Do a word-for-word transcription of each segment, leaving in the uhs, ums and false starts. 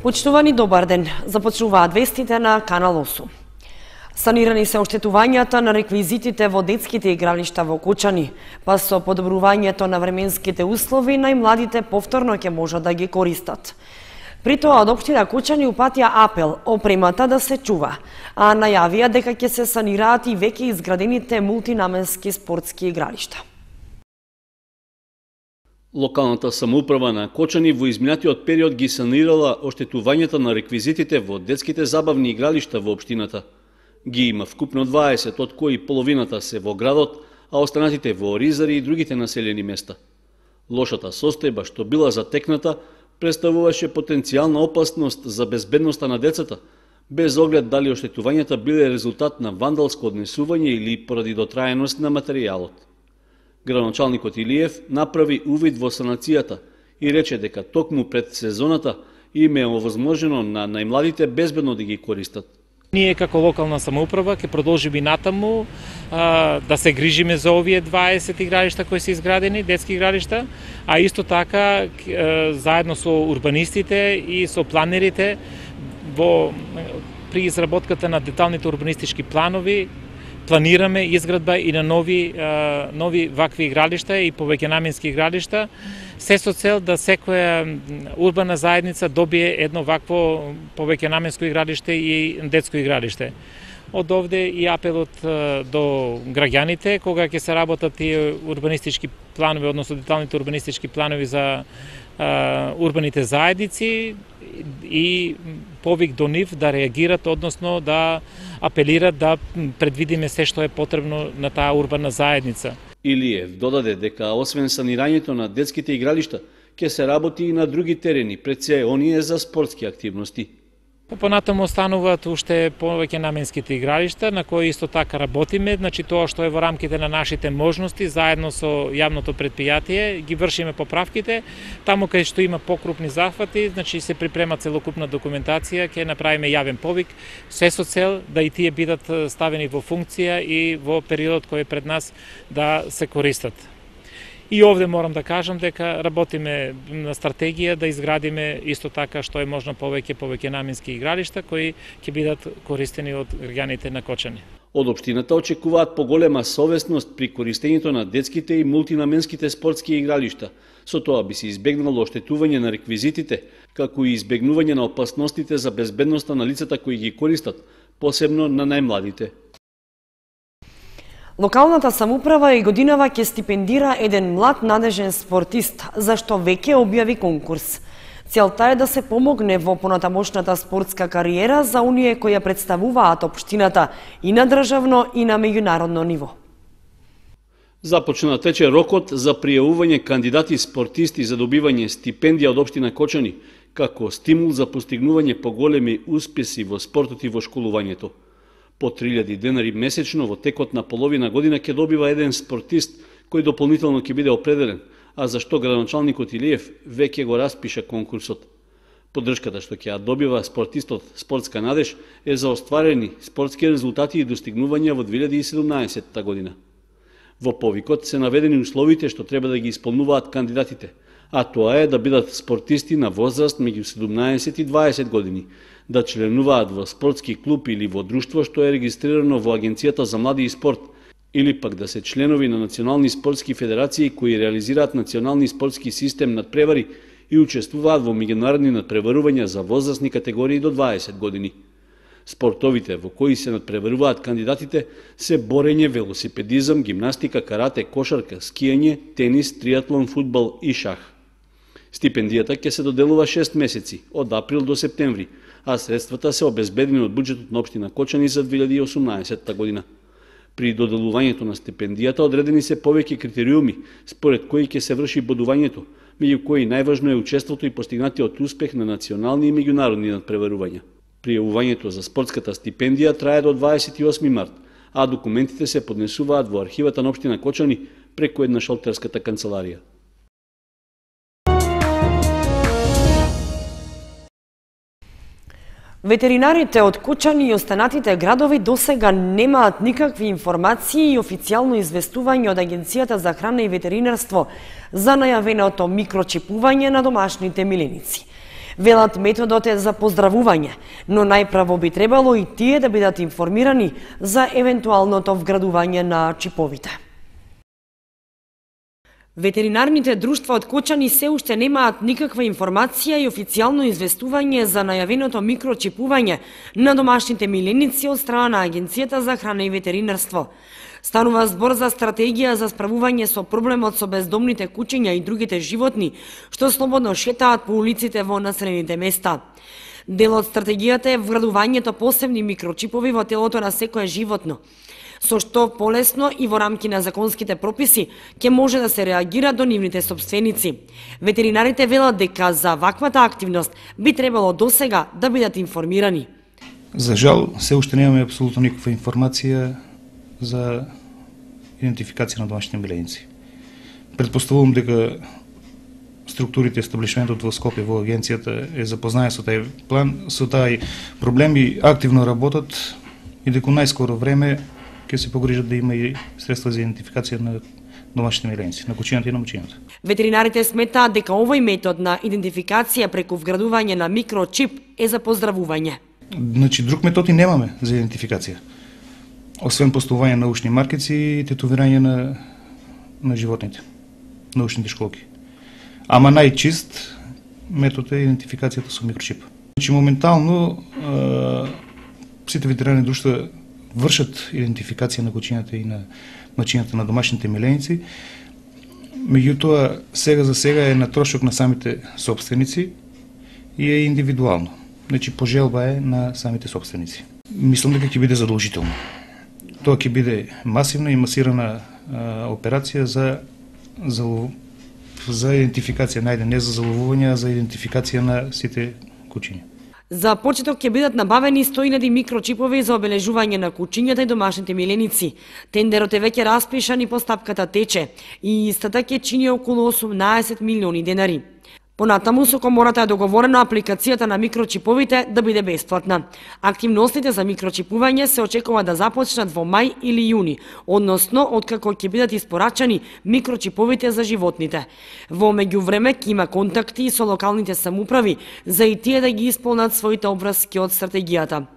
Почитувани, добар ден. Започнуваат вестите на Канал осум. Санирани се оштетувањата на реквизитите во детските игралишта во Кочани, па со подобрувањето на временските услови најмладите повторно ќе можат да ги користат. При тоа од општина Кочани упатија апел опремата да се чува, а најавија дека ќе се санираат и веќе изградените мултинаменски спортски игралишта. Локалната самоуправа на Кочани во изминатиот период ги санирала оштетувањата на реквизитите во детските забавни игралишта во општината. Ги има вкупно дваесет, од кои половината се во градот, а останатите во Оризари и другите населени места. Лошата состојба што била затекната представуваше потенцијална опасност за безбедноста на децата, без оглед дали оштетувањата биле резултат на вандалско однесување или поради дотраеност на материјалот. Градоначалникот Илиев направи увид во санацијата и рече дека токму пред сезоната им е овозможено на најмладите безбедно да ги користат. Ние како локална самоуправа ќе продолжиме и натаму а, да се грижиме за овие дваесет игралишта кои се изградени, детски игралишта, а исто така а, заедно со урбанистите и со планерите во при изработката на деталните урбанистички планови планираме изградба и на нови а, нови вакви игралишта и повеќенаменски игралишта, се со цел да секоја урбана заедница добие едно вакво повеќенаменско игралиште и детско игралиште. Од овде и апелот а, до граѓаните, кога ќе се работат и урбанистички планови, односно деталните урбанистички планови за а, урбаните заедници, и повик до нив да реагират, односно да апелират да предвидиме се што е потребно на таа урбана заедница. Илиев додаде дека освен санирањето на детските игралишта, ќе се работи и на други терени, пред се оние за спортски активности. Понатаму остануваат уште повеќе наменските игралишта, на кои исто така работиме, значи тоа што е во рамките на нашите можности, заедно со јавното предпријатие, ги вршиме поправките. Таму кај што има покрупни захвати, значи се припрема целокупна документација, ќе направиме јавен повик, се со цел да и тие бидат ставени во функција и во периодот кој е пред нас да се користат. И овде морам да кажам дека работиме на стратегија да изградиме исто така што е можно повеќе повеќенаменски игралишта кои ќе бидат користени од граѓаните на Кочани. Од општината очекуваат поголема совесност при користењето на детските и мултинаменските спортски игралишта. Со тоа би се избегнало оштетување на реквизитите, како и избегнување на опасностите за безбедноста на лицата кои ги користат, посебно на најмладите. Локалната самоуправа и годинава ќе стипендира еден млад надежен спортист, зашто веќе објави конкурс. Целта е да се помогне во понатамошната спортска кариера за оние кои ја представуваат општината и на државно и на меѓународно ниво. Започна тече рокот за пријавување кандидати спортисти за добивање стипендија од општина Кочани, како стимул за постигнување поголеми успеси во спортот и во школувањето. По три илјади денари месечно во текот на половина година ќе добива еден спортист кој дополнително ќе биде определен, а за што градоначалникот Илиев веќе го распиша конкурсот. Поддршката што ќе ја добива спортистот Спортска надеж е за остварени спортски резултати и достигнувања во две илјади и седумнаесетта година. Во повикот се наведени условите што треба да ги исполнуваат кандидатите, а тоа е да бидат спортисти на возраст меѓу седумнаесет и дваесет години, да членуваат во спортски клуб или во друштво што е регистрирано во Агенцијата за млади и спорт, или пак да се членови на национални спортски федерации кои реализираат национални спортски систем надпревари и учествуваат во меѓународни надпреварувања за возрастни категории до дваесет години. Спортовите во кои се надпреваруваат кандидатите се борење, велосипедизам, гимнастика, карате, кошарка, скијање, тенис, триатлон, фудбал и шах. Стипендијата ќе се доделува шест месеци, од април до септември, а средствата се обезбедени од буџетот на општина Кочани за две илјади и осумнаесетта година. При доделувањето на стипендијата одредени се повеќе критериуми, според кои ќе се врши бодувањето, меѓу кои најважно е учеството и постигнатиот успех на национални и меѓународни надпреварувања. Пријавувањето за спортската стипендија трае до дваесет и осми март, а документите се поднесуваат во архивата на општина Кочани преку една шалтерската канцеларија. Ветеринарите од Кочани и останатите градови досега немаат никакви информации и официјално известување од Агенцијата за храна и ветеринарство за најавеното микрочипување на домашните миленици. Велат методот е за поздравување, но најправо би требало и тие да бидат информирани за евентуалното вградување на чиповите. Ветеринарните друштва од Кочани се уште немаат никаква информација и официјално известување за најавеното микрочипување на домашните миленици од страна на Агенцијата за храна и ветеринарство. Станува збор за стратегија за справување со проблемот со бездомните кучиња и другите животни, што слободно шетаат по улиците во населените места. Дел од стратегијата е вградувањето посебни микрочипови во телото на секое животно, со што полесно и во рамки на законските прописи ќе може да се реагира до нивните собственици. Ветеринарите велат дека за ваквата активност би требало досега да бидат информирани. За жал, се уште немаме апсолутно никаква информација за идентификација на домашните миленици. Предпоставувам дека структурите, естаблишментот во Скопје, во агенцијата е запознае со тај план, со тај проблем и активно работат и дека најскоро време ќе се погрижат да има и средства за идентификација на домашните миленици, на кучињата и на мучињата. Ветеринарите сметаат дека овој метод на идентификација преку вградување на микрочип е за поздравување. Значи, друг метод и немаме за идентификација. Освен поставување на ушни маркици и тетовирање на, на животните, на ушните школки. Ама најчист метод е идентификацијата со микрочип. Значи, моментално а, сите ветеринарни друштва вршат идентификација на кучињата и на мачињата на домашните миленици. Меѓутоа, сега за сега е на трошок на самите собственици и е индивидуално. Значи, пожелба е на самите собственици. Мислам дека ќе биде задолжително. Тоа ќе биде масивна и масирана а, операција за, за, за идентификација, најде не за заловување, а за идентификација на сите кучиња. За почеток ќе бидат набавени сто илјади микрочипови за обележување на кучињата и домашните миленици. Тендерот е веќе распишан и постапката тече и истата ќе чини околу осумнаесет милиони денари. Понатаму со комората е договорено апликацијата на микрочиповите да биде бесплатна. Активностите за микрочипување се очекува да започнат во мај или јуни, односно откако ќе бидат испорачани микрочиповите за животните. Во меѓувреме ќе има контакти со локалните самоуправи за и тие да ги исполнат своите обврски од стратегијата.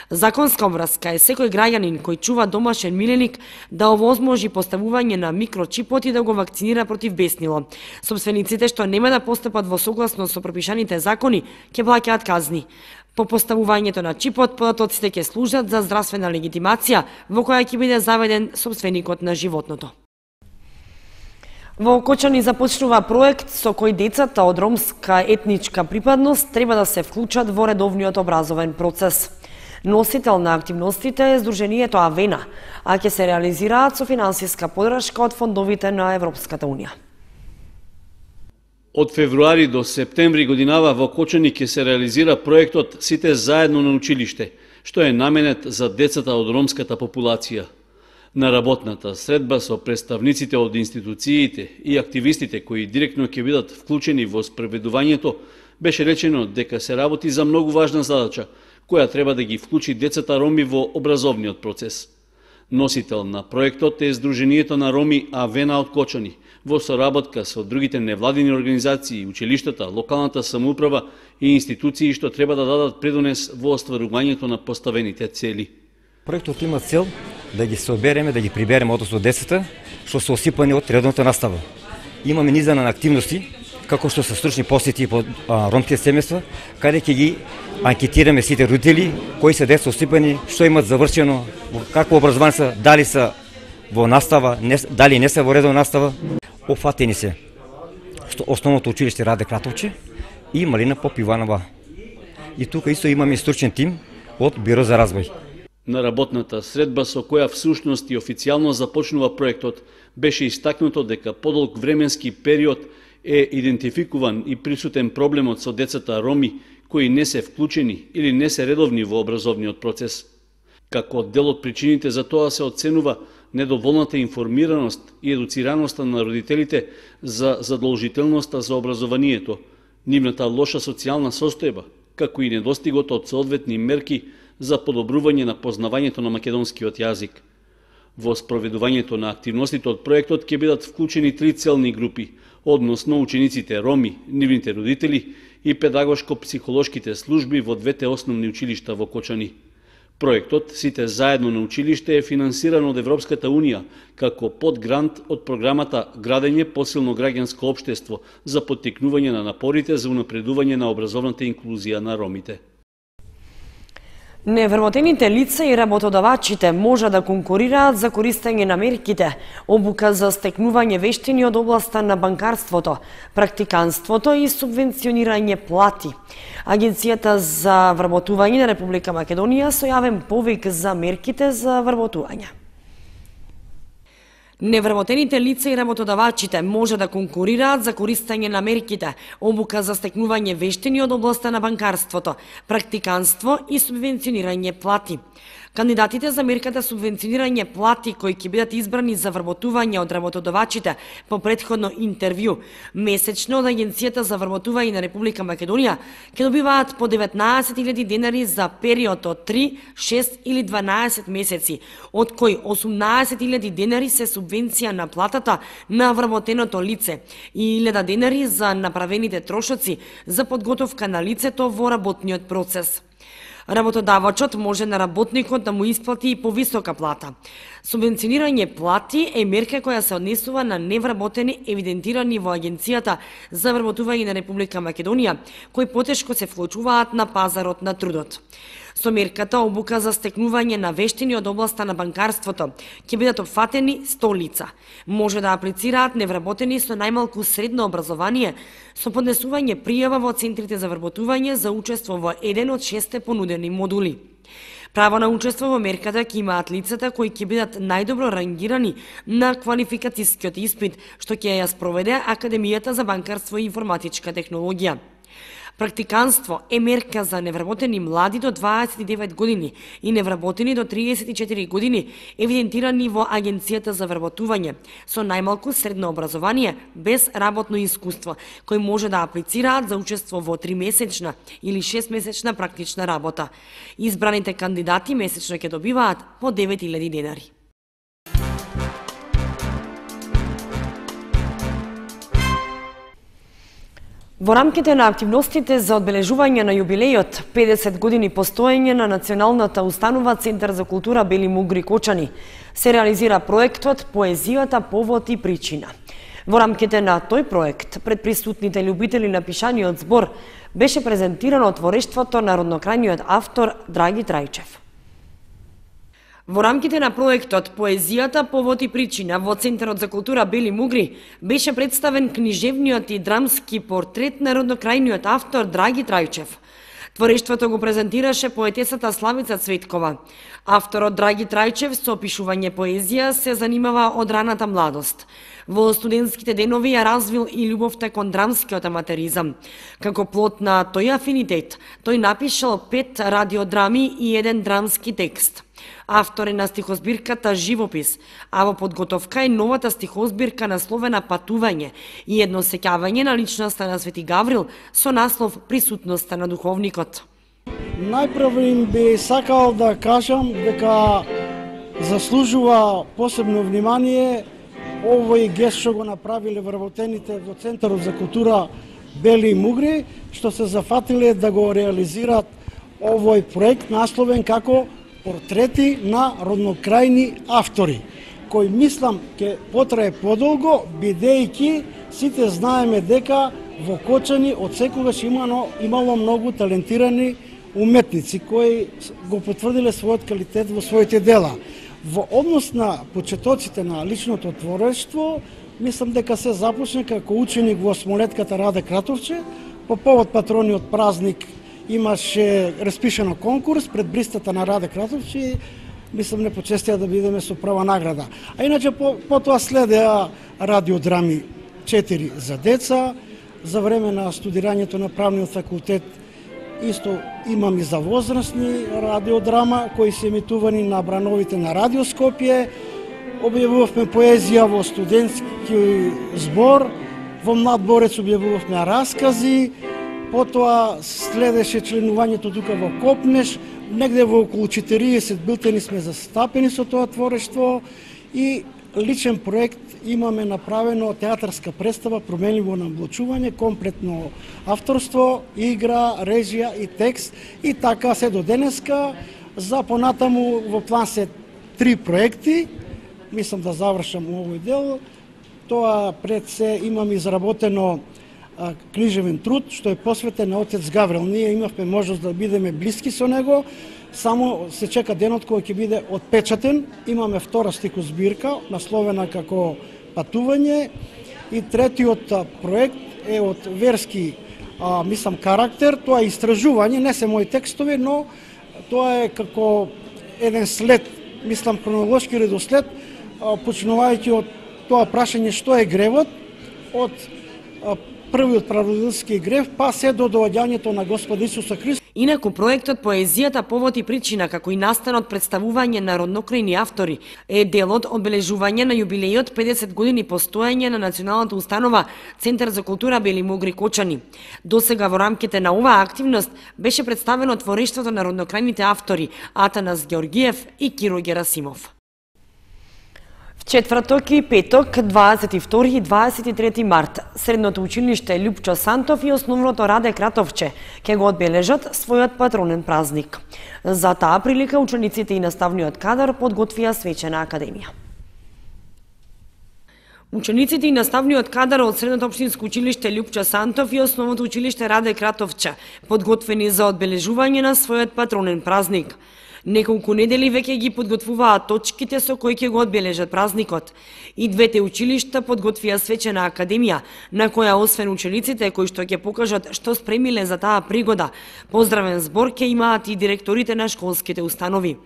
Законска обврска е секој граѓанин кој чува домашен миленик да овозможи поставување на микрочипот и да го вакцинира против беснило. Собствениците што нема да постапат во согласно со пропишаните закони ќе плаќаат казни. По поставувањето на чипот, податоците ќе служат за здравствена легитимација во која ќе биде заведен собственикот на животното. Во Кочани започнува проект со кој децата од ромска етничка припадност треба да се вклучат во редовниот образовен процес. Носител на активностите е Сдруженијето Авена, а ќе се реализираат со финансиска поддршка од фондовите на Европската Унија. Од февруари до септември годинава во Кочани ќе се реализира проектот Сите заедно на училиште, што е наменет за децата од ромската популација. На работната средба со представниците од институциите и активистите кои директно ќе бидат вклучени во спроведувањето, беше речено дека се работи за многу важна задача, која треба да ги вклучи децата роми во образовниот процес. Носител на проектот е Сдруженијето на роми Авена од Кочани, во соработка со другите невладини организации, училиштата, локалната самоуправа и институции што треба да дадат предонес во остварувањето на поставените цели. Проектот има цел да ги собереме, да ги прибереме односно децата што се осипани од редовната настава. Имаме низа на активности, како што се стручни посети по а, ромските семејства, каде ќе ги анкетираме сите родители, кои се деца осипани, што имат завршено, какво образование се, дали се во настава, не, дали не се во редовна настава. Офатени се основното училиште Раде Кратовче и Малина Попиванова. И тука исто имаме стручен тим од Биро за развој. На работната средба со која всушност и официјално започнува проектот, беше истакнуто дека подолг временски период е идентификуван и присутен проблемот со децата роми кои не се вклучени или не се редовни во образовниот процес. Како дел од причините за тоа се оценува недоволната информираност и едуцираноста на родителите за задолжителноста за образованието, нивната лоша социјална состојба, како и недостигот од соодветни мерки за подобрување на познавањето на македонскиот јазик. Во спроведувањето на активностите од проектот ќе бидат вклучени три целни групи, односно учениците роми, нивните родители и педагошко-психолошките служби во двете основни училишта во Кочани. Проектот "Сите заедно на училиште" е финансиран од Европската Унија како подгрант од програмата "Градење посилно граѓанско општество" за поттикнување на напорите за унапредување на образовната инклузија на ромите. Невработените лица и работодавачите може да конкурираат за користење на мерките, обука за стекнување вештини од областа на банкарството, практиканството и субвенционирање плати. Агенцијата за вработување на Република Македонија со јавен повик за мерките за вработување. Невработените лица и работодавачите може да конкурираат за користење на мерките, обука за стекнување вештини од областа на банкарството, практиканство и субвенционирање плати. Кандидатите за мерката субвенционирање плати кои ќе бидат избрани за вработување од работодавачите по претходно интервју месечно од Агенцијата за вработување на Република Македонија ќе добиваат по деветнаесет илјади денари за период од три, шест или дванаесет месеци, од кои осумнаесет илјади денари се субвенција на платата на вработеното лице и илјада денари за направените трошоци за подготовка на лицето во работниот процес. Работодавачот може на работникот да му исплати и повисока плата. Субвенционирање плати е мерка која се однесува на невработени евидентирани во Агенцијата за вработување на Република Македонија, кои потешко се вклучуваат на пазарот на трудот. Со мерката обука за стекнување на вештини од областа на банкарството ќе бидат опфатени сто лица. Може да аплицираат невработени со најмалку средно образование со поднесување пријава во центрите за вработување за учество во еден од шесте понудени модули. Право на учество во мерката ќе имаат лицата кои ќе бидат најдобро рангирани на квалификацијскиот испит, што ќе ја спроведе Академијата за банкарство и информатичка технологија. Практиканство е мерка за невработени млади до дваесет и девет години и невработени до триесет и четири години, евидентирани во Агенцијата за вработување, со најмалку средно образование без работно искуство, кои може да аплицираат за учество во тримесечна или шестмесечна практична работа. Избраните кандидати месечно ќе добиваат по девет илјади денари. Во рамките на активностите за одбележување на јубилејот педесет години постоење на Националната установа Центар за култура Бели Мугри Кочани, се реализира проектот "Поезијата, повод и причина". Во рамките на тој проект, пред присутните љубители на пишаниот збор, беше презентирано творештвото на роднокрајниот автор Драги Трајчев. Во рамките на проектот "Поезијата, повод и причина" во Центарот за култура Бели Мугри беше представен книжевниот и драмски портрет на роднокрајниот автор Драги Трајчев. Творештвото го презентираше поетесата Славица Цветкова. Авторот Драги Трајчев со опишување поезија се занимава од раната младост. Во студентските денови ја развил и љубовта кон драмскиот аматеризам. Како плод на тој афинитет, тој напишал пет радиодрами и еден драмски текст. Автор е на стихозбирката "Живопис", а во подготовка е новата стихозбирка насловена "Патување" и едно сеќавање на личноста на Свети Гаврил со наслов "Присутноста на духовникот". Најпрво им би сакал да кажам дека заслужува посебно внимание овој гест што го направиле вработените во Центарот за култура Бели Мугри, што се зафатиле да го реализираат овој проект насловен како "Портрети на роднокрајни автори", кој мислам ќе потрае подолго, бидејќи сите знаеме дека во Кочани од секогаш имало, имало многу талентирани уметници кои го потврдиле својот квалитет во своите дела. Во однос на почетоците на личното творештво, мислам дека се започне како ученик во Смолетката Раде Кратовче, по повод патрониот празник имаше распишано конкурс пред бристата на Раде Кратовче, мислам не почестија да бидеме со прва награда. А иначе по, потоа следеа радиодрами четири за деца, за време на студирањето на правниот факултет исто имам и за возрастни радиодрама кои се емитувани на брановите на Радио Скопје. Објавувавме поезија во студентски збор, во Младборец објавувавме раскази, потоа следеше членувањето тука во Копнеш, негде во околу четириесет билтени сме застапени со тоа творештво и личен проект имаме направено театарска представа променливо наблучување, комплетно авторство, игра, режија и текст и така се до денеска. За понатаму во план се три проекти. Мислам да завршам овој дел. Тоа пред се имам изработено а, книжевен труд што е посветен на отец Гаврил. Ние имавме можност да бидеме блиски со него. Само се чека денот кој ќе биде отпечатен. Имаме втора стикозбирка, насловена како Патување. И третиот проект е од верски, а, мислам, карактер. Тоа е истражување, не се мои текстови, но тоа е како еден след, мислам, хронолошки редослед, а, почнувајќи од тоа прашање што е гревот, од а, првиот прародителски грев, па се до доаѓањето на Господа Исуса Христа. Инаку проектот Поезијата повод и причина, како и настанот представување на роднокрајни автори, е дел од одбележување на јубилејот педесет години постоење на националната установа Центар за култура Бели Мугри Кочани. Досега во рамките на оваа активност беше представено творештвото на роднокрајните автори Атанас Георгиев и Киро Герасимов. В четврток и петок, дваесет и втори и дваесет и трети март, Средното училиште Љупчо Сантов и Основното Раде Кратовче ќе го одбележат својот патронен празник. За таа прилика учениците и наставниот кадар подготвија свечена академија. Учениците и наставниот кадар од Средното општинско училиште Љупчо Сантов и Основното училиште Раде Кратовче подготвени за одбележување на својот патронен празник. Неколку недели веќе ги подготвуваат точките со кои ќе го одбележат празникот. И двете училишта подготвија свечена академија, на која освен учениците кои што ќе покажат што спремиле за таа пригода, поздравен збор ќе имаат и директорите на школските установи.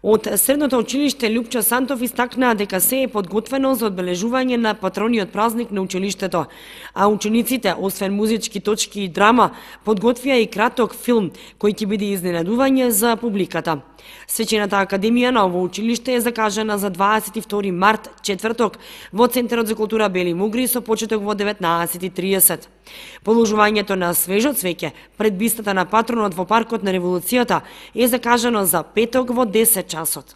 Од Средното училиште Љупчо Сантов истакнаа дека се е подготвено за одбележување на патрониот празник на училиштето, а учениците, освен музички точки и драма, подготвија и краток филм кој ќе биде изненадување за публиката. Свечената академија на ово училиште е закажана за дваесет и втори март, четврток, во Центарот за култура Бели Мугри со почеток во деветнаесет и триесет. Положувањето на свежо цвеќе пред бистата на патронот во паркот на Револуцијата е закажано за петок во десет часот.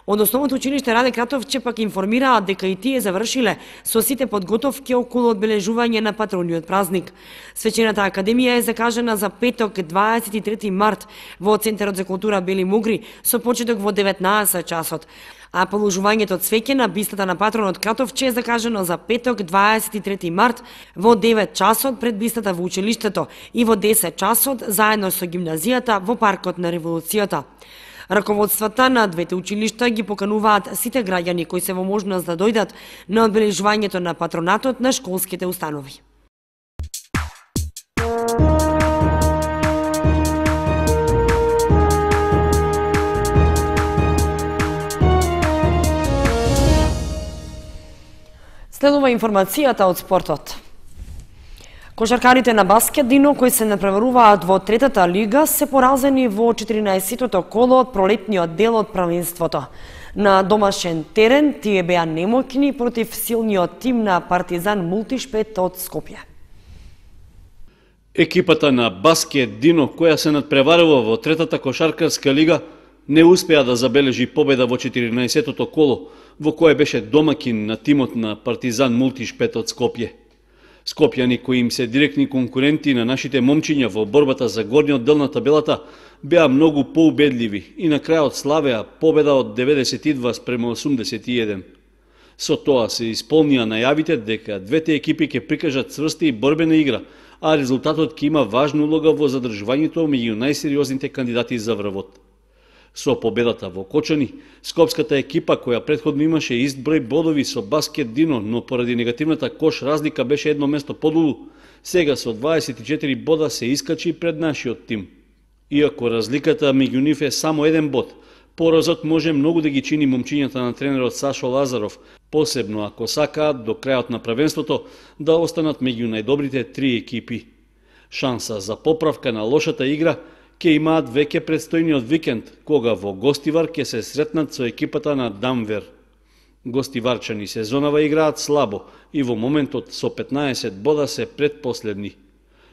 Од Основното училиште Раде Кратовче пак информираат дека и тие завршиле со сите подготовки околу одбележување на патрониот празник. Свечената академија е закажана за петок, дваесет и трети март, во Центарот за култура Бели Мугри со почеток во деветнаесет часот. А положувањето цвеќе на бистата на патронот Кратовче е закажано за петок, дваесет и трети март, во девет часот пред бистата во училиштето и во десет часот заедно со гимназијата во паркот на Револуцијата. Раководствата на двете училишта ги покануваат сите граѓани кои се во можност да дојдат на одбележувањето на патронатот на школските установи. Следува информацијата од спортот. Кошаркарите на Баскет Дино, кои се напреваруваат во третата лига, се поразени во четиринаесеттото коло од пролетниот дел од правенството. На домашен терен тие беа немоќни против силниот тим на Партизан Мултишпет од Скопје. Екипата на Баскет Дино, која се надпреварува во третата кошаркарска лига, не успеа да забележи победа во четиринаесеттото коло, во кое беше домакин на тимот на Партизан Мултишпет од Скопје. Скопјани, кои им се директни конкуренти на нашите момчиња во борбата за горниот дел на табелата, беа многу поубедливи и на крајот славеа победа од деветдесет и два спрема осумдесет и еден. Со тоа се исполнија најавите дека двете екипи ќе прикажат цврста и борбена игра, а резултатот ќе има важна улога во задржувањето меѓу најсериозните кандидати за врвот. Со победата во Кочани, скопската екипа која претходно имаше ист број бодови со Баскет Дино, но поради негативната кош разлика беше едно место подолу, сега со дваесет и четири бода се искачи пред нашиот тим. Иако разликата меѓу нив е само еден бод, поразот може многу да ги чини момчињата на тренерот Сашо Лазаров, посебно ако сакаат до крајот на првенството да останат меѓу најдобрите три екипи. Шанса за поправка на лошата игра ќе имаат веќе предстојниот викенд, кога во Гостивар ќе се сретнат со екипата на Дамвер. Гостиварчани сезонава играат слабо и во моментот со петнаесет бода се предпоследни.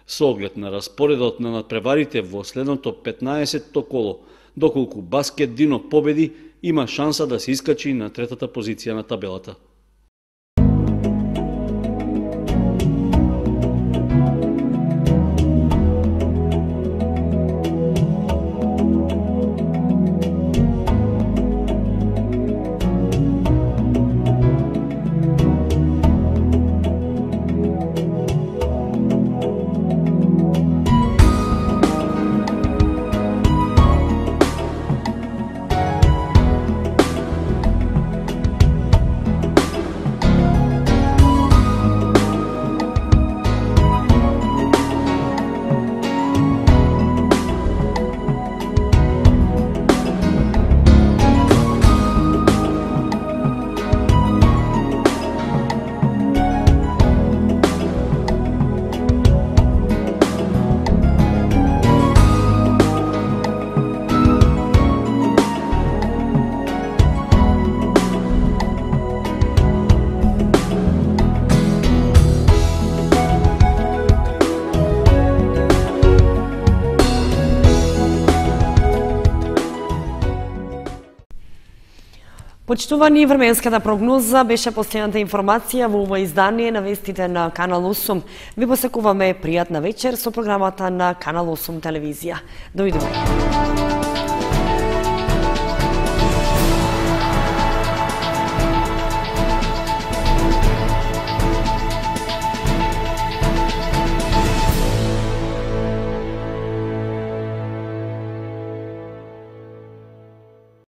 Со оглед на распоредот на надпреварите во следното петнаесетто коло, доколку Баскет Дино победи, има шанса да се искачи на третата позиција на табелата. Почитувани, временската прогноза беше последната информација во ова издание на вестите на Канал осум. Ви посекуваме пријатна вечер со програмата на Канал осум телевизија. Довидување.